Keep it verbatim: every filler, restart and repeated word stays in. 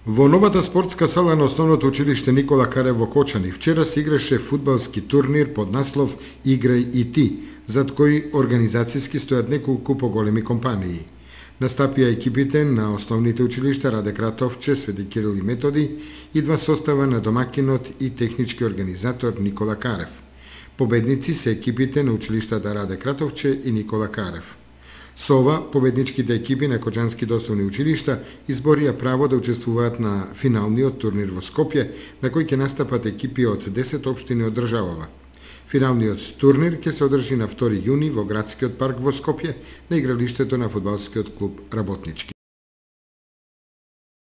Во новата спортска сала на основното училиште Никола Карев во Кочани вчера се играше фудбалски турнир под наслов Играј и ти, зад кој организацијски стојат неколку поголеми компании. Настапија екипите на основните училишта Раде Кратовче, Свети Кирил и Методи и два состава на домакинот и технички организатор Никола Карев. Победници се екипите на училиштата Раде Кратовче и Никола Карев. Со ова, победничките екипи на Кочанските основни училишта изборија право да учествуваат на финалниот турнир во Скопје, на кој ќе настапат екипи од десет општини од државава. Финалниот турнир ќе се одржи на втори јуни во градскиот парк во Скопје, на игралиштето на фудбалскиот клуб Работнички.